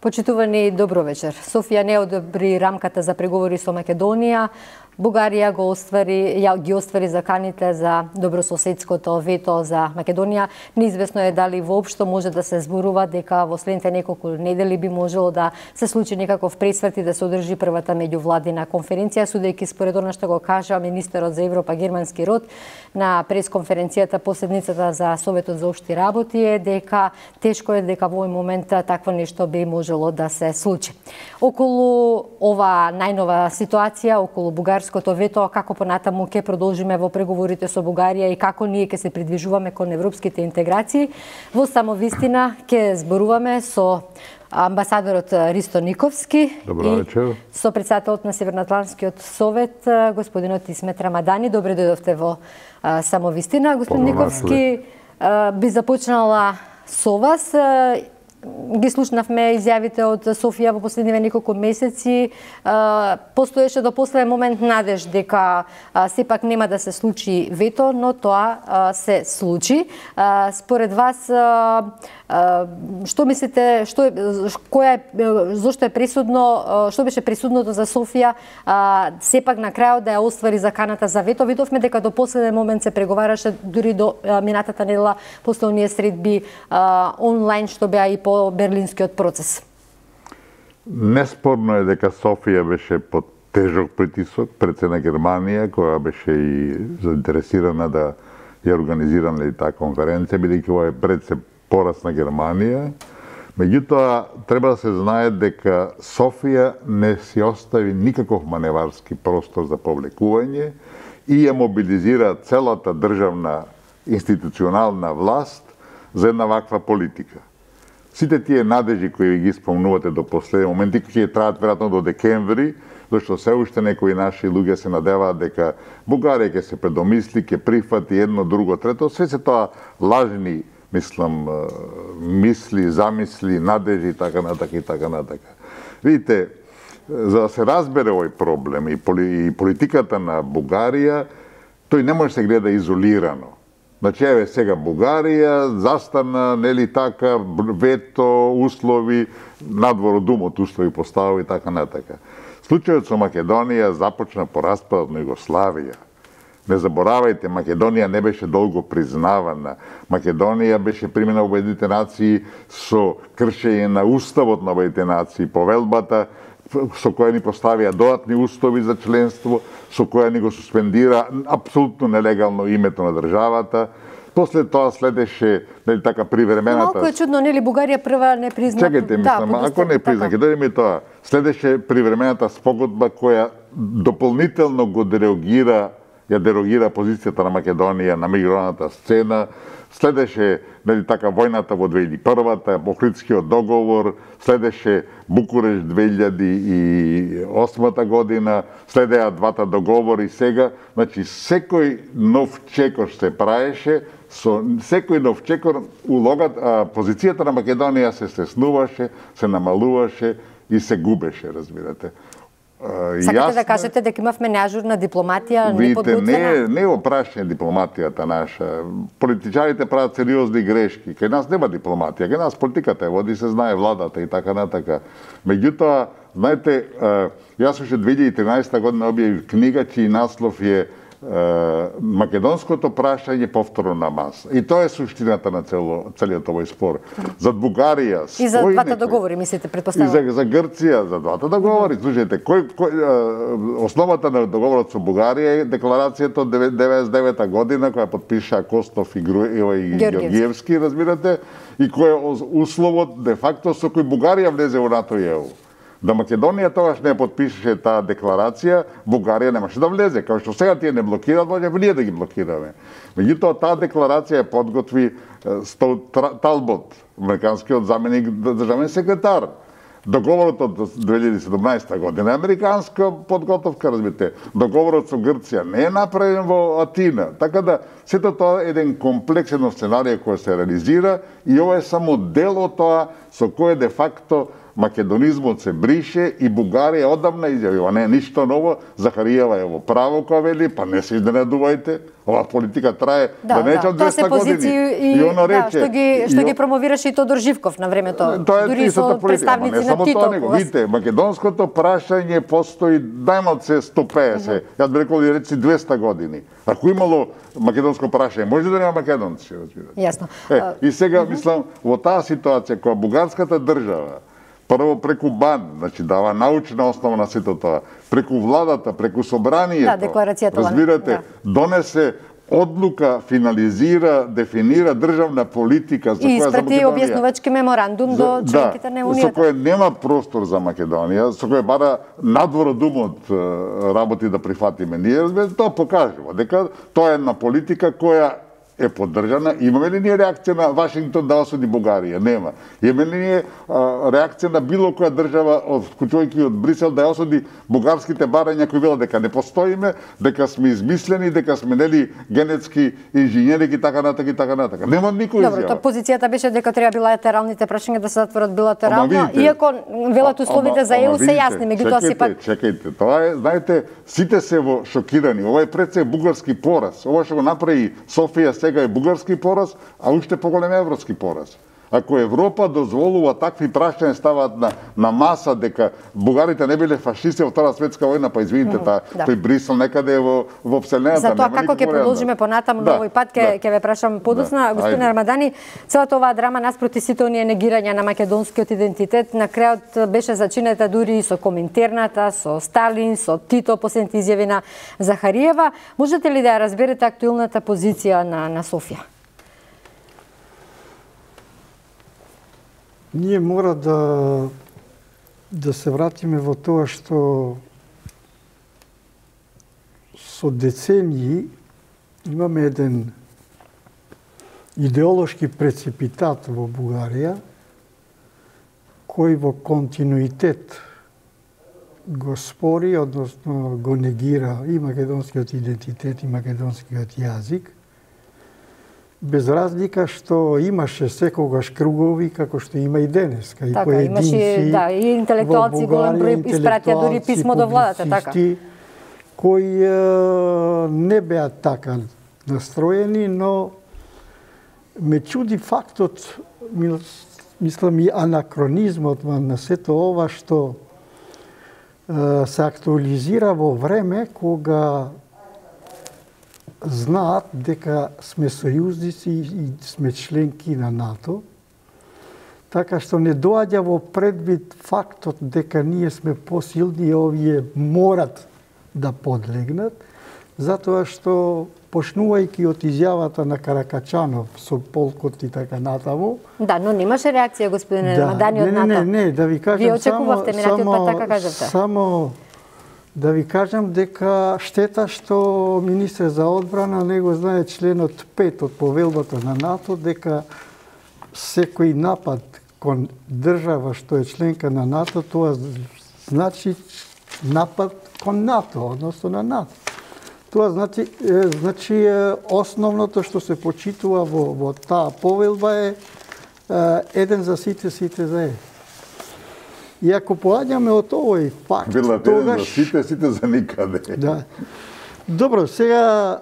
Почитувани, добро вечер. Софија не одобри рамката за преговори со Македонија. Бугарија ги оствари заканите за добрососедското вето за Македонија. Неизвестно е дали воопшто може да се зборува дека во следните неколку недели би можело да се случи некаков пресврт и да се одржи првата меѓувладина конференција, судејќи според она што го кажа министерот за Европа германски род на пресконференцијата последницата за Советот за општи работи е дека тешко е дека во овој момент такво нешто би можело да се случи. Околу ова најнова ситуација, околу бугарското вето, како понатаму ќе продолжиме во преговорите со Бугарија и како ние ќе се придвижуваме кон европските интеграции. Во самовистина ќе зборуваме со амбасадорот Ристо Никовски и со председателот на Северноатлантскиот совет господинот Исмет Рамадани. Добре дојдовте во самовистина. Господин Никовски, би започнала со вас. Ги слушнавме изјавите од Софија во последниве неколку месеци. Постоеше до последен момент надеж дека сепак нема да се случи вето, но тоа се случи. Според вас, што мислите, зошто е пресудно, што беше пресудното за Софија сепак на крајот да ја оствари заканата за вето? Видовме дека до последен момент се преговараше, дури до минатата недела после оние средби онлайн што беа и по берлинскиот процес. Неспорно е дека Софија беше под тежок притисок пред цела Германија, која беше и заинтересирана да ја организира таа конференција, бидејќи ова е пред се пораз на Германија. Меѓутоа, треба да се знае дека Софија не си остави никаков маневарски простор за повлекување и ја мобилизира целата државна институционална власт за една ваква политика. Сите тие надежи кои ги спомнувате до последен момент и ќе траат веројатно до декември, зашто се уште некои наши луѓе се надеваат дека Бугарија ќе се предомисли, ќе прифати едно, друго, трето, се тоа лажни, мисли, замисли, надежи и така натака и така натака. Видите, за да се разбере овој проблем и политиката на Бугарија, тој не може да се гледа изолирано. Значи, еве сега Бугарија застана, нели така, вето, услови, надвор од умот услови постави и така натака. Случајот со Македонија започна по распадот на Југославија. Не заборавајте, Македонија не беше долго признавана. Македонија беше примена во Обединетите нации со кршење на уставот на Обединетите нации, повелбата со која ни поставија додатни услови за членство, со која ни го суспендира апсолутно нелегално името на државата. После тоа следеше, нели така, привремената... Малку е чудно, нели Бугарија прва не призна... Чекајте, ако не призна, ќе дојдеме тоа. Следеше привремената спогодба која дополнително го дерогира позицијата на Македонија на меѓународната сцена. Следеше, нели така, војната во 2001-та, Охридскиот договор, следеше Букуреш 2008 година, следеа двата договори сега. Значи, секој нов чекор се праеше, со секој нов чекор позицијата на Македонија се стеснуваше, се намалуваше и се губеше, разбирате. Сакате да кажете дека имавме неажурна дипломатија, неподготвена? Не е опрашање дипломатијата наша. Политичарите прават сериозни грешки. Кај нас нема дипломатија, кај нас политиката е води, се знае владата и така натака. Меѓутоа, знаете, јас уште 2013 година објавив книга чиј наслов е Македонското прашање повторно на маса. И тоа е суштината на целиот овој спор. За Бугарија... И за двата договори, мислите, предпоставувам? И за Грција, за двата договори. Слушајте, основата на договорот со Бугарија е декларацијата од 1999 година, која подпиша Костов и Георгиевски, разбирате, и кој е условот, де факто, со кој Бугарија влезе во НАТО и ЕУ. Да Македонија тогаш не подпишеше таа декларација, Бугарија немаше да влезе. Као што сега тие не блокираат, може ние да ги блокираме. Меѓутоа, таа декларација подготви Талбот, американскиот заменик државен секретар. Договорот од 2017 година е американска подготовка, разбирате. Договорот со Грција не е направен во Атина. Така да, сето тоа е еден комплексен сценарија кој се реализира и ова е само дел од тоа со кој де факто македонизмот се брише и Бугарија одамна изјавила, не ништо ново, Захариева е во право која вели, па не се изненадувајте, ова политика трае да нечам 200 години. И оно рече, што ги промовираше и Тодор Живков на времето, дури со представници на Тито. Видите, македонското прашање постои најмалку 150, јас би рекол и речи 200 години. Ако имало македонско прашање, може да нема македонци, разбирате. Јасно. И сега мислам во таа ситуација која бугарската држава прво преку БАН, значи дава научна основа на сето тоа, преку владата, преку собранието, разбирате, донесе одлука, финализира, дефинира државна политика за која за Македонија. И испрати објаснувачки меморандум до членките на Унијата. Со кој нема простор за Македонија, со кој бара надвор од умот работи да прифатиме. Ние, разбирате, тоа покажува дека тоа е една политика која е поддржана. Имаме ли ние реакција на Вашингтон да осуди Бугарија? Нема. Имаме ли ние реакција на било која држава, вклучувајќи од Брисел, да ја осуди бугарските барања кои велат дека не постоиме, дека сме измислени, дека сме нели генетски инженери и така натака и така натака. Нема никој изјава. Добро, позицијата беше дека треба билатералните прашања да се затворат билатерално, иако велат условите за ЕУ се јасни, меѓутоа сепак чекајте, тоа е, знаете, сите се во шокирани. Ова е пред се бугарски пораз. Ова што го направи Софија сега е бугарски пораз, а уште поголем европски пораз. Ако Европа дозволува такви прашања ставаат на маса дека бугарите не биле фашисти во Втора светска војна, па извините, тој Брисел некаде е во вселената. За тоа како ќе продолжиме понатаму на овој пат, ќе ве прашам подоцна. Господин Рамадани, целата оваа драма наспроти сите оние негирања на македонскиот идентитет, на крајот беше зачинета дури и со Коминтерната, со Сталин, со Тито, последните изјави на Захариева. Можете ли да ја разберете актуелната позиција на Софија? Ние мора да се вратиме во тоа што со децении имаме еден идеолошки прецепитат во Бугарија, кој во континуитет го спори, односно го негира и македонскиот идентитет и македонскиот јазик, без разлика што имаше секогаш кругови како што има и денеска, и поединци, и интелектуалци, голем број испратија дури писмо до владата, така, кои не беа така настроени, но ме чуди фактот, мислам и анакронизмот на сето ова што се актуализира во време кога знаат дека сме сојузници и сме членки на НАТО, така што не доаѓа во предвид фактот дека ние сме посилни и овие морат да подлегнат, затоа што почнувајќи од изјавата на Каракачанов со полкот и така натаму. Да, но немаше реакција, господине Рамадани, од НАТО. Не, да ви кажам, вие очекувавте минатиот пат, така кажавте. Само да ви кажам дека штета што министер за одбрана не го знае членот 5 од повелбата на НАТО, дека секој напад кон држава што е членка на НАТО, тоа значи напад кон НАТО, односно на НАТО. Тоа значи основното што се почитува во таа повелба е еден за сите, сите за е. И ако поаѓаме од овој факт, тогаш... за сите за никаде. Да. Добро, сега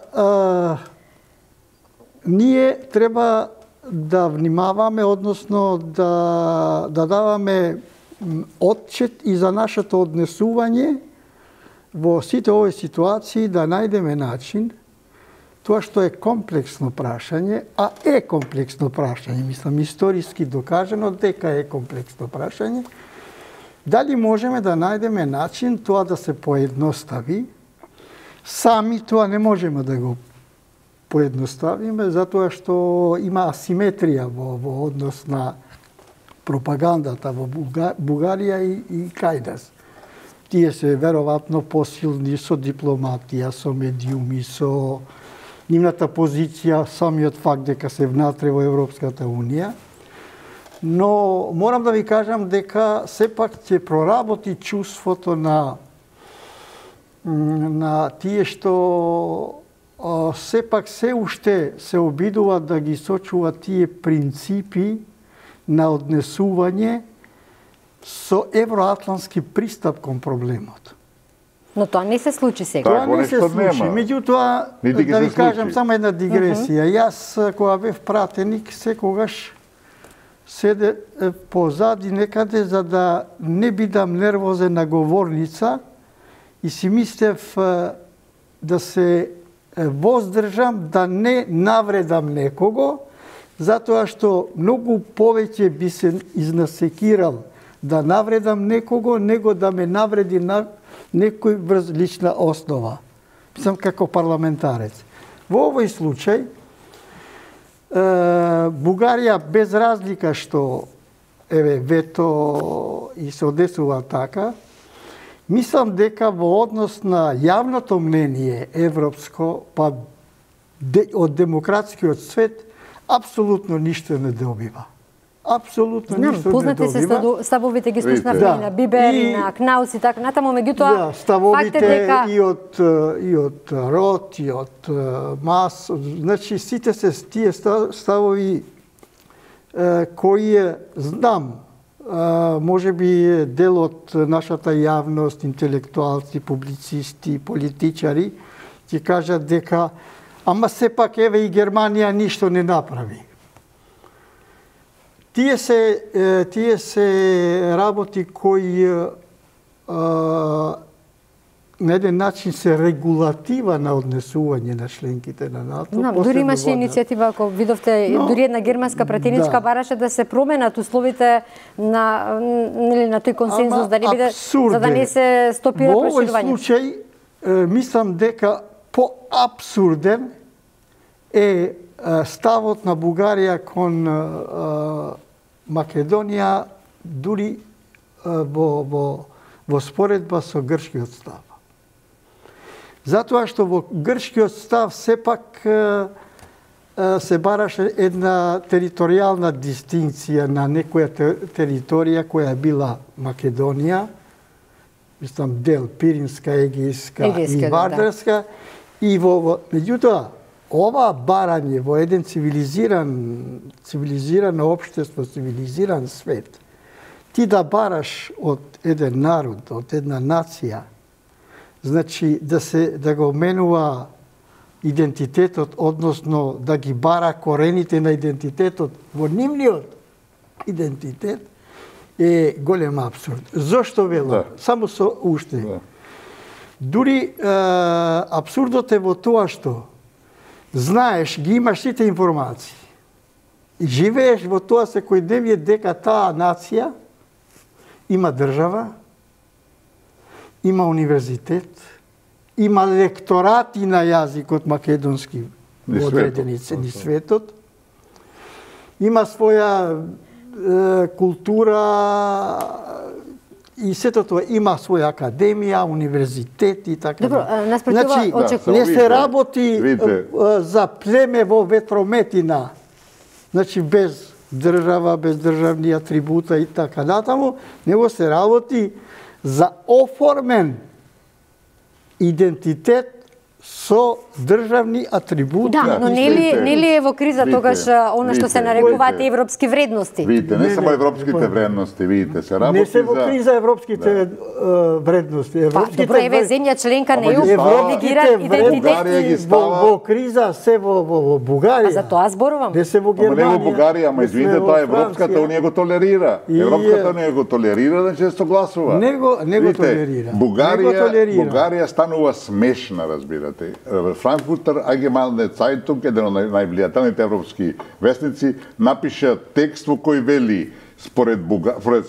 ние треба да внимаваме, односно да даваме отчет и за нашето однесување во сите овој ситуации, да најдеме начин тоа што е комплексно прашање, а е комплексно прашање, мислам историски докажано дека е комплексно прашање, дали можеме да најдеме начин тоа да се поедностави? Сами тоа не можеме да го поедноставиме, затоа што има асиметрија во однос на пропагандата во Бугарија и кај нас. Тие се веројатно посилни со дипломатија, со медиуми, со нивната позиција, самиот факт дека се внатре во Европската Унија. Но морам да ви кажам дека сепак ќе проработи чувството на тие што сепак се уште се обидуваат да ги сочуваат тие принципи на однесување со евроатлантски пристап кон проблемот. Но тоа не се случи сега. Тоа не се случи. Меѓутоа, да ви кажам само една дигресија. Јас, кога бев пратеник, секогаш седе позади некаде за да не бидам нервозен на говорница и си мислев да се воздржам да не навредам некого, затоа што многу повеќе би се изнасекирал да навредам некого, него да ме навреди на некој врз лична основа. Мислам како парламентарец. Во овој случај, Бугарија без разлика што вето и се одесува така, мислам дека во однос на јавното мнение европско, па од демократскиот свет, апсолутно ништо не добива. Апсолутно ништо не добива. Познати се ставовите ги слушнавме и на Бибер, и на Кнаус и така натаму, меѓутоа ставовите и од Рот, и од Мас, значи сите се тие ставови кои знам, може би дел од нашата јавност, интелектуалци, публицисти, политичари, ќе кажат дека ама сепак еве и Германија ништо не направи. Тие се работи кои на еден начин се регулатива на однесување на членките на НАТО. Дури имаше иницијатива, ако видовте, дури една германска пратеничка бараше да се променат условите на тој консензус, да не биде, за да не се стопира проширување. Во овој случај, мислам дека поабсурден е ставот на Бугарија кон Македонија, дури во споредба со грчкиот став. Затоа што во грчкиот став сепак се бараше една територијална дистинција на некоја територија која била Македонија, мислам дел Пиринска, Егејска и Вардарска, и меѓутоа ова барање во еден цивилизирано општество, цивилизиран свет, ти да бараш од еден народ, од една нација, значи да го менува идентитетот, односно да ги бара корените на идентитетот во нивниот идентитет, е голем абсурд. Зошто велам? Само со уште. Дури абсурдот е во тоа што знаеш, ги имаш сите информации. И живееш во тоа секојдневие дека таа нација има држава, има универзитет, има лекторати на јазикот македонски во одредени ни светот, има своја култура и сето тоа, има своја академија, универзитет и така. Добро, наспротива не се работи за племе во ветрометина, значи без држава, без државни атрибута и така натаму, него се работи за оформен идентитет со државни атрибути. Да, но нели е во криза тогаш она што се нарекуваат европски вредности? Видите, не само европските вредности, видите, се работи за... Не се во криза европските вредности. Добро, еве земја членка на ЕУ негира идентитет. Во криза се во Бугарија. А за тоа зборувам. Не се во Германија. Ама не во Бугарија, ама извините, тоа Европската унија го толерира. Европската унија го толерира, значи се согласува. Не го толерира. Бугарија станува смешна, разбирате. Frankfurter Allgemeine Zeitung, еден од највлијателните европски вестници, напиша текст во кој вели според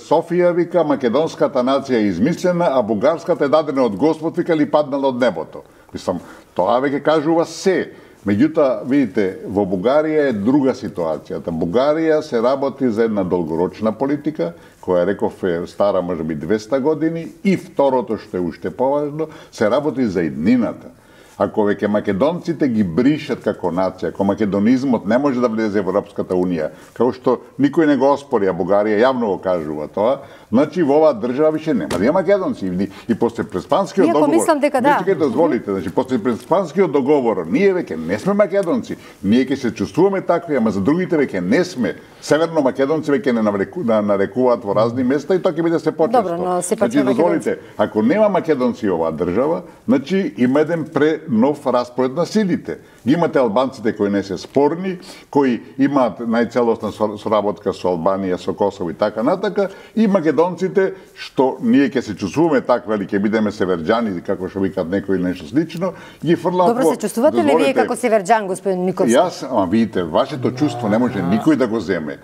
Софија, вика, македонската нација е измислена, а бугарската е дадена од Господ, вика, или паднала од небото. Мислам, тоа веќе кажува се. Меѓутоа, видите, во Бугарија е друга ситуацијата. Бугарија се работи за една долгорочна политика, која реков е стара можеби 200 години, и второто што е уште поважно, се работи за иднината. Ако веќе македонците ги бришат како нација, ако македонизмот не може да влезе во Европската унија, како што никој не го оспори, а Бугарија јавно го кажува тоа, значи во оваа држава више нема да има македонци. И после Преспанскиот договор, мислам дека да. Нека дозволите, значи после Преспанскиот договор, ние веќе не сме македонци, ние ќе се чувствуваме такви, ама за другите веќе не сме. Северно македонци веќе не нарекуваат во разни места и тоа ќе биде се почесто. Добро, но сепак значи, дозволите, ако нема македонци оваа држава, значи има еден нов распоред на силите. Ги имате албанците кои не се спорни, кои имаат најцелосна соработка со Албанија, со Косово и така натака, и македонците што ние ќе се чувствуваме такви, или ќе бидеме северџани, како што викаат некои или нешто слично, ги фрлаат. Добро, се чувствувате ли вие како северџан, господин Никовски? Јас, видите, вашето чувство не може никој да го земе.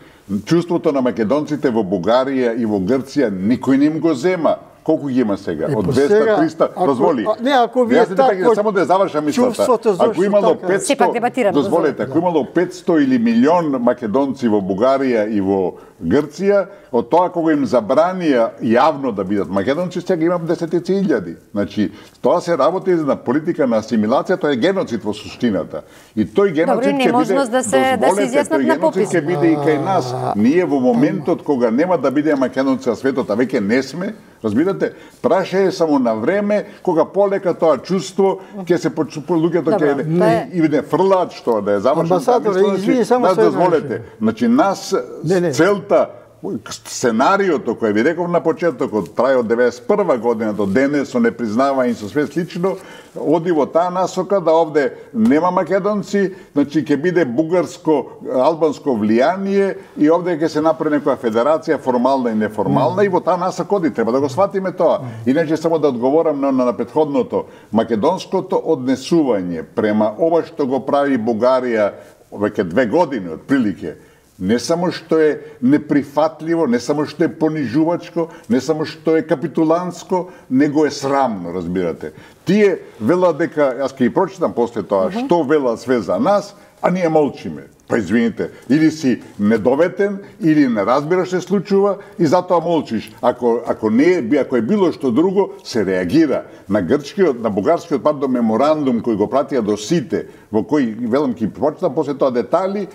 Чувството на македонците во Бугарија и во Грција никој не им го зема. Колку ги има сега? Од 200-300, дозволи. Не, ако вие така, само да завршам мислата. Ако имало 500, дозволете, ако имало 500 или милион македонци во Бугарија и во Грција, од тоа кога им забранија јавно да бидат македонци, сега имам десетици илјади. Значи, тоа се работи на политика на асимилација, тоа е геноцид во суштината. И тој геноцид ќе биде, да се изјаснат на попис. Ќе биде и кај нас. Ние во моментот кога нема да биде македонци на светот, а веќе не сме, разбирате, праша е само на време кога полека тоа чувство ќе се луѓето ќе и не фрлаат што да е завршено. Нас дозволете. Значи нас целта сценариото кој ви реков на почетокот трае од 91 година до денес со непризнавање и со све слично, оди во таа насока да овде нема македонци, значи ќе биде бугарско-албанско влијание и овде ќе се направи некоја федерација формална и неформална и во таа насока оди, треба да го сватиме тоа. Иначе само да одговорам на претходното, македонското однесување према ова што го прави Бугарија веќе 2 години отприлике, не само што е неприфатливо, не само што е понижувачко, не само што е капитуланско, него е срамно, разбирате. Тие велат дека, јас ќе ги прочитам после тоа, што велат све за нас, а ние молчиме. Па извините, или си недоветен, или не разбираш се случува и затоа молчиш. Ако е било што друго, се реагира. На бугарскиот меморандум кој го пратија до сите, во кој велам ќе прочитам после тоа детали,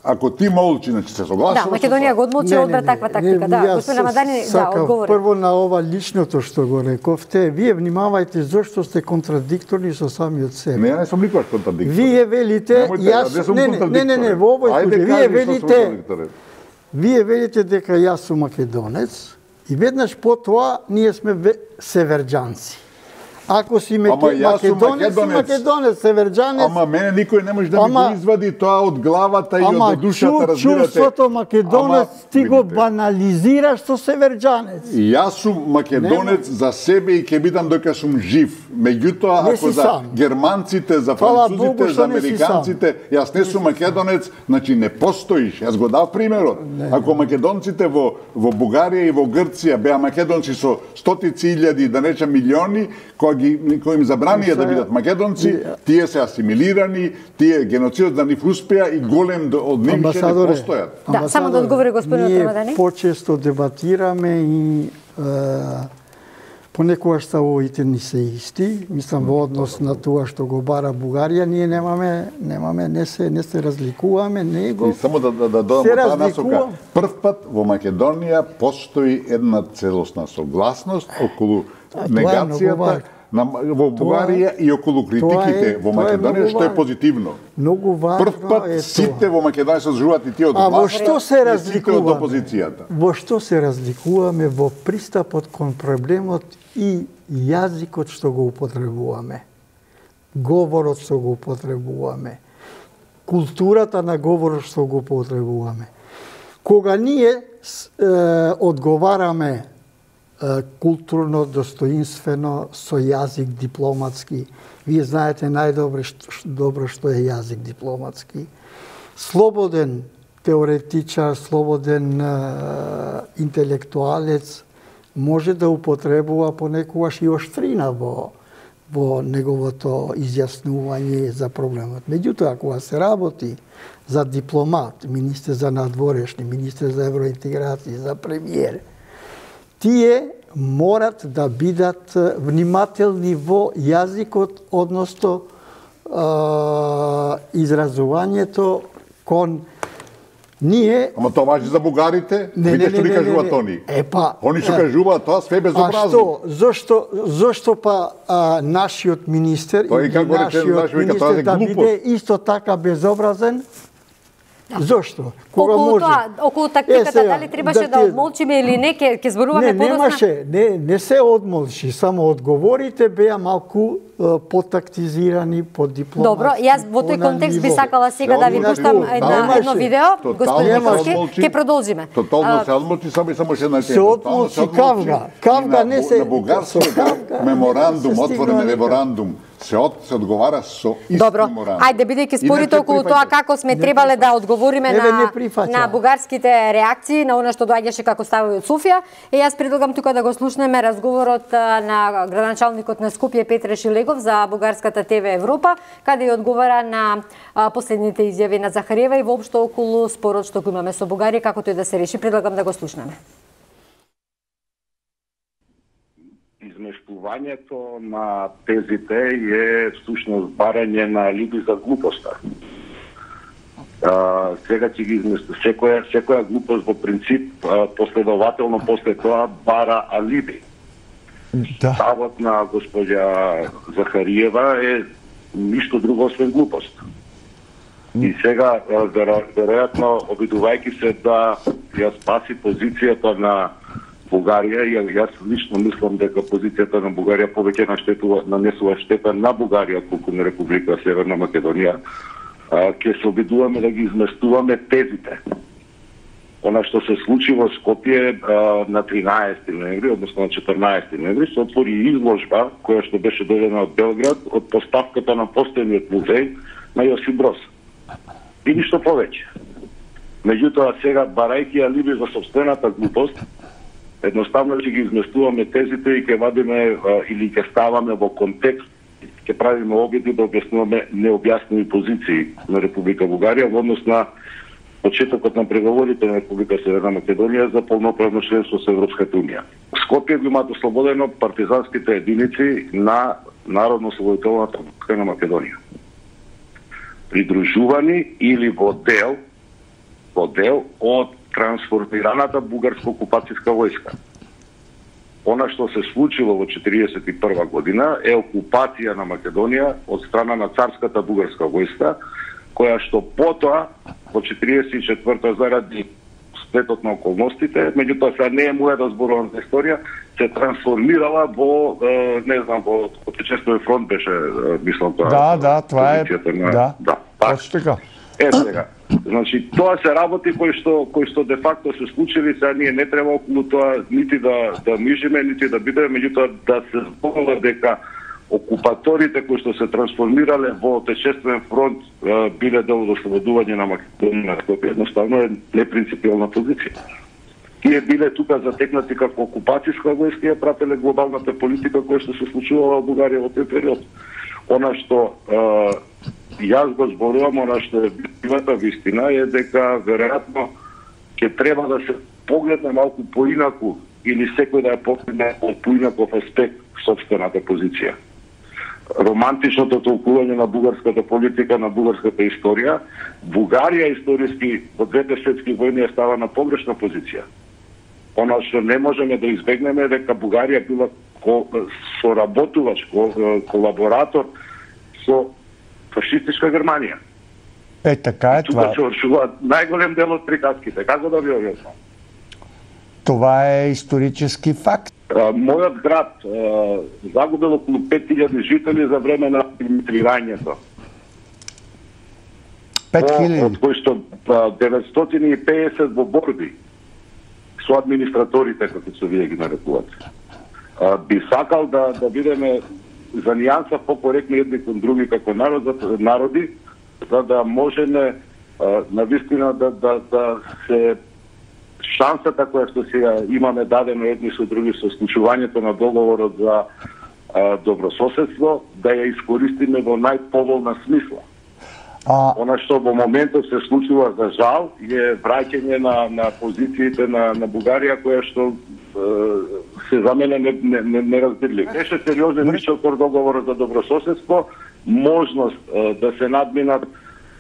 ако ти молчи, значи се согласува. Да, Македонија го одмолчи одбра таква тактика. Да, господин Рамадани, одговори. Прво на ова личното што го рековте, вие внимавајте зошто сте контрадикторни со самиот себе. Не сум никогаш контрадикторен. Вие велите, не, во овој случај, вие велите дека јас сум македонец и веднаш потоа ние сме северџанци. Ако си македонец, северџанец... Ама мене никој не може да ми го извади тоа од главата и од душата, разбирате. Чувството македонец ти го банализираш со северџанец. Јас сум македонец за себе и ќе бидам дока сум жив. Меѓутоа, ако за германците, за французите, за американците, јас не сум македонец, значи не постоиш. Јас го дав примерот. Ако македонците во Бугарија и во Грција беа македонци со стотици илјади, да речем милиони, кои им забранија да бидат македонци, тие се асимилирани, тие геноцидот на нив успеа и голем од нив не постојат. Да, само да одговори господин Рамадани. Ние почесто дебатираме и понекогаш ставовите ни се исти, мислам во однос на тоа што го бара Бугарија, ние не се разликуваме, него и само да додам таа насока. Прв пат во Македонија постои една целосна согласност околу негацијата во Бугарија и околу критиките во Македонија, што е позитивно. Многу важно прв пат сите во Македонија се зжуват и тие од власта, во што се разликуваме? Од опозицијата. Во што се разликуваме во пристапот кон проблемот и јазикот што го употребуваме, говорот што го употребуваме, културата на говорот што го употребуваме. Кога ние одговараме културно, достоинствено, со јазик дипломатски. Вие знаете најдобро што е јазик дипломатски. Слободен теоретичар, слободен интелектуалец може да употребува понекогаш иоштрина во неговото изјаснување за проблемот. Меѓутоа, кога се работи за дипломат, министер за надворешни, министер за евроинтеграција, за премиер, тие морат да бидат внимателни во јазикот, односно изразувањето кон ние... Ама тоа важи за бугарите? Видите што ни кажуваат они? Они што кажуваат тоа све безобразно. А што? Зошто па нашиот министер и нашиот министер да биде исто така безобразен? Зошто? Кога може? Околу тактиката, дали требаше да одмолчиме или не, ќе зборуваме подоцна? Немаше, не се одмолчи, само одговорите беа малку потактизирани, подипломатски. Добро, јас во тој контекст би сакала сега да ви пуштам едно видео, господин Николски, ќе продолжиме. Тотално се одмолчи, само ще една се одмолчи Кавга не се... На бугарскиот меморандум, отворен меморандум, се одговара со исти меморандум. Добро, ајде, бидејќи спорите околу тоа како сме требале да одговориме на бугарските реакции, на она што доаѓаше како ставови од Софија, и јас предлагам тука да го слушнеме разговорот на градоначалникот на Скопје Петре Шилегов за бугарската ТВ Европа, каде ја одговара на последните изјави на Захариева и воопшто околу спорот што го имаме со Бугарија, како тој да се реши. Предлагам да го слушнеме. Измештувањето на тезите е всушност барање на алиби за глупоста. Сега ќе ги измести секоја глупост во принцип последователно после тоа бара алиби. Ставот на госпоѓа Захариева е ништо друго освен глупост. И сега веројатно обидувајќи се да ја спаси позицијата на Бугарија, и јас лично мислам дека позицијата на Бугарија повеќе нанесува штета на Бугарија отколку на Република Северна Македонија, ќе се обидуваме да ги изместуваме тезите. Она што се случи во Скопје на 13 ноември, односно на 14 ноември, се отвори изложба која што беше доведена од Белград од поставката на постојниот музеј на Јосип Броз. И ништо повеќе. Меѓутоа сега, барајќи алиби за собствената глупост, едноставно ќе ги изместуваме тезите и ќе вадиме или ќе ставаме во контекст, ќе правиме обиди да објаснуваме необјасними позиции на Република Бугарија во однос на почетокот на преговорите на Република Северна Македонија за полноправно членство со Европската унија. Скопје го имаат ослободено партизанските единици на Народно-ослободителната войска на Македонија. Придружувани или во дел од трансформираната бугарска окупацијска војска. Она што се случило во 1941 година е окупација на Македонија од страна на царската бугарска војска, која што потоа во 1944 заради сплетот на околностите, меѓутоа сега не е моја да зборувам за историја, се трансформирала во во Отечествен фронт беше, мислам тоа. Да, това е. Да. Точно така. Сега. Значи, тоа се работи кои што де факто се случили, сега ние не треба околу тоа нити да мижиме, нити да бидеме, меѓутоа да се зборува дека окупаторите кои што се трансформирале во Отечествен фронт биле дел од ослободување на Македонија на Скопје, едноставно е непринципиална позиција. Тие биле тука затекнати како окупацијска војска и прателе глобалната политика која што се случувала во Бугарија во тој период. Она што јас го зборувам, она што е бивата вистина е дека веројатно ќе треба да се погледне малку поинаку или секој да ја погледне од поинаков аспект собствената позиција. Романтичното толкување на бугарската политика, на бугарската историја, Бугарија историски во двете светски војни става на погрешна позиција. Она што не можеме да избегнеме е дека Бугарија била соработувач, колаборатор со фашистичка Германија. Така е това. Тука се оршува најголем дел од приказките. Како да ви објаснам? Това е исторически факт. Мојот град загубил околу 5000 жители за време на администрирањето. 5000? Од кои што 950 во борби со администраторите, како се вие ги нарекувате. Би сакал да бидеме за нијанса покоректни едни кон други како народи, за да можеме навистина да се шансата која што сега имаме дадено едни со други со склучувањето на договорот за добрососедство, да ја искористиме во најповолна смисла. Она што во моментот се случува за жал е враќање на позициите на Бугарија која што се за мене неразбирлив. Беше сериозен ричокор договорот за добрососедство, можност да се надминат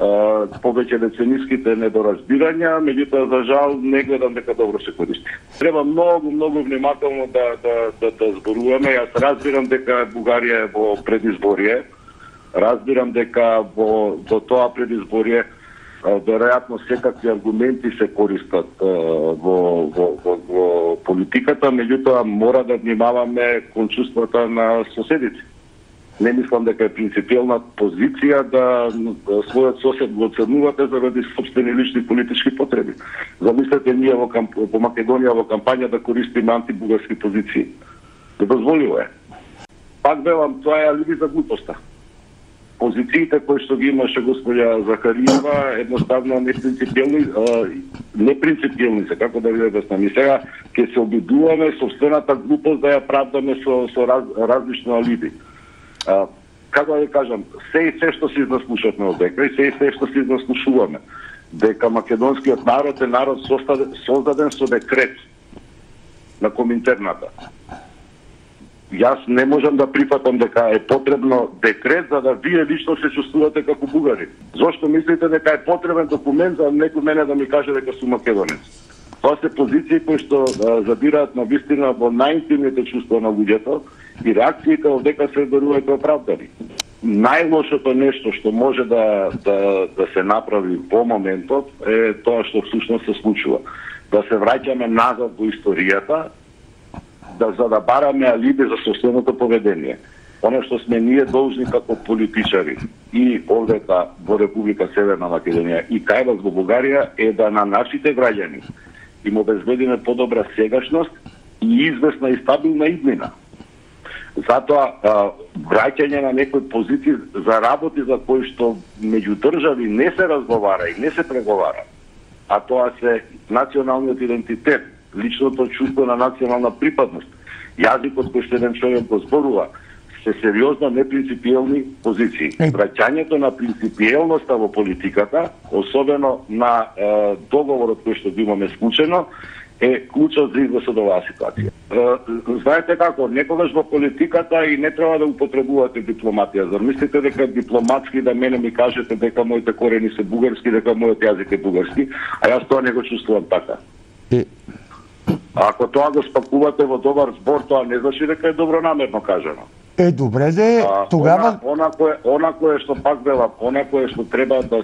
повеќе децениските недоразбирања, меѓутоа за жал не гледам дека добро се користи. Треба многу внимателно да зборуваме. Јас разбирам дека Бугарија е во предизборие. Разбирам дека до тоа предизборие веројатно секакви аргументи се користат во политиката, меѓутоа мора да внимаваме кон чувствата на соседите. Не мислам дека е принципиелна позиција да својот сосед го оценувате заради собствени лични политички потреби. Замислете ние во Македонија во кампања да користиме антибугарски позиции. Недозволиво е. Пак велам, тоа е алиби за глупоста. Позициите кои што ги имаше господја Захариева едноставно непринципиелни се, како да ви објаснам. И сега ќе се обидуваме собствената глупост да ја правдаме со различно алиби. Како да ви кажам, се што се изнаслушавме од дека и се што се изнаслушуваме, дека македонскиот народ е народ создаден со декрет на Коминтерната. Јас не можам да прифатам дека е потребно декрет за да вие лично се чувствувате како бугари. Зошто мислите дека е потребен документ за некој мене да ми каже дека сум македонец? Тоа се позиции кои што задираат на вистина во најинтимните чувства на луѓето и реакциите од дека се верувајте оправдани. Најлошото нешто што може да се направи во моментот е тоа што всушност се случува. Да се враќаме назад во историјата, за да бараме алиби за собственото поведение. Оно што сме ние должни како политичари и овдека во Република Северна Македонија и кај вас во Бугарија е да на нашите граѓани им обезбедиме подобра сегашност и известна и стабилна иднина. Затоа враќање на некои позиции за работи за кои што меѓу држави не се разговара и не се преговара, а тоа се националниот идентитет, личното чувство на национална припадност, јазикот кој што еден човек го зборува, се сериозно непринципиелни позиции. Враќањето на принципиелноста во политиката, особено на договорот кој што го имаме склучено, е клучот за излез од оваа ситуација. Знаете како, некогаш во политиката и не треба да употребувате дипломатија. Зар мислите дека дипломатски да мене ми кажете дека моите корени се бугарски, дека мојот јазик е бугарски, а јас тоа не го чувствувам така. Ако тоа го спакувате во добар збор, тоа не значи дека е добронамерно кажано. Добре де, тогава она кое што пак велам, она кое што треба да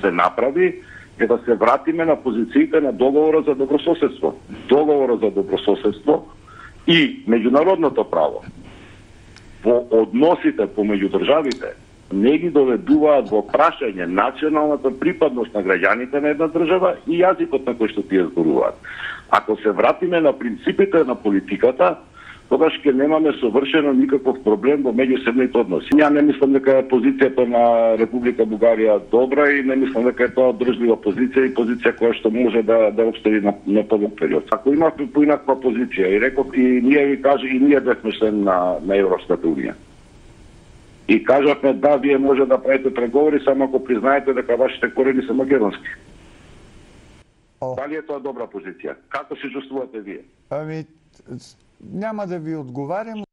се направи е да се вратиме на позициите на договорот за добрососедство. Договорот за добрососедство и меѓународното право во односите помеѓу државите не ги доведуваат во прашање националната припадност на граѓаните на една држава и јазикот на кој што тие зборуваат. Ако се вратиме на принципите на политиката, тогаш ќе немаме совршено никаков проблем во меѓусебните односи. Ја не мислам дека позицијата на Република Бугарија добра и не мислам дека е тоа држлива позиција и позиција која што може да обстои на подолг период. Ако имавме поинаква позиција и реков и ние ви кажа и ние бевме член на Европската унија. И кажавме да, вие може да правите преговори само ако признаете дека вашите корени се македонски. Дали е тоа добра позиција? Како се чувствувате вие? Няма да ви одговарям.